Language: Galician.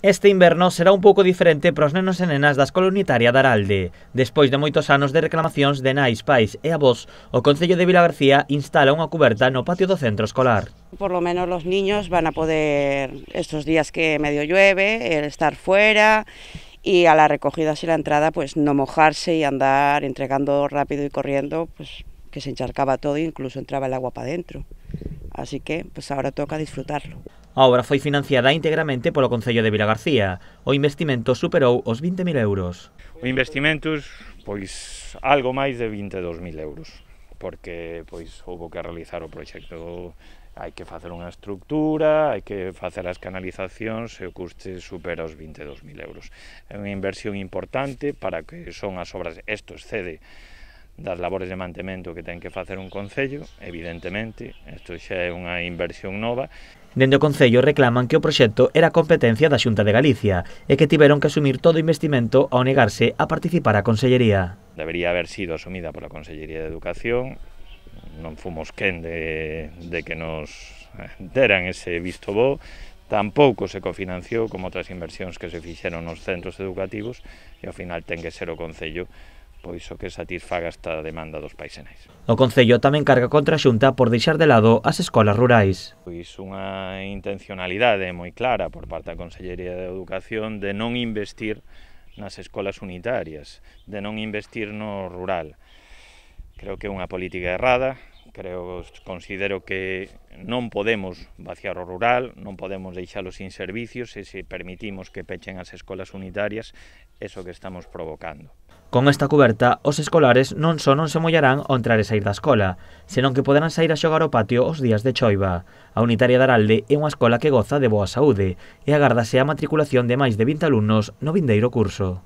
Este inverno será un pouco diferente para os nenos e nenas da Escola Unitaria de Aralde. Despois de moitos anos de reclamacións de nais, pais e avós, o Concello de Vilagarcía instala unha cuberta no patio do centro escolar. Por lo menos los niños van a poder, estos días que medio llueve, estar fuera y a la recogida y la entrada pues no mojarse y andar entregando rápido y corriendo, pues que se encharcaba todo e incluso entraba el agua para adentro. Así que pues ahora toca disfrutarlo. A obra foi financiada integramente polo Concello de Vilagarcía. O investimento superou os 20.000 euros. O investimento, pois, algo máis de 22.000 euros, porque pois houve que realizar o proxecto. Hai que facer unha estructura, hai que facer as canalizacións e o custe supera os 22.000 euros. É unha inversión importante para que son as obras, isto excede das labores de mantemento que ten que facer un concello, evidentemente, isto xa é unha inversión nova. Dende o Concello reclaman que o proxecto era competencia da Xunta de Galicia e que tiveron que asumir todo o investimento ao negarse a participar a Consellería. Debería haber sido asumida pola Consellería de Educación, non fomos quen de que nos deran ese visto bo, tampouco se cofinanciou como outras inversións que se fixeron nos centros educativos e ao final ten que ser o Concello pois o que satisfaga esta demanda dos pais e nais. O Concello tamén carga contra a Xunta por deixar de lado as escolas rurais. Pois unha intencionalidade moi clara por parte da Consellería de Educación de non investir nas escolas unitarias, de non investir no rural. Creo que é unha política errada, considero que non podemos vaciar o rural, non podemos deixalo sin servicios e se permitimos que pechen as escolas unitarias, eso que estamos provocando. Con esta cuberta, os escolares non só non se mollarán ao entrar e sair da escola, senón que poderán sair a xogar ao patio os días de choiva. A Unitaria de Aralde é unha escola que goza de boa saúde e agárdase a matriculación de máis de 20 alumnos no vindeiro curso.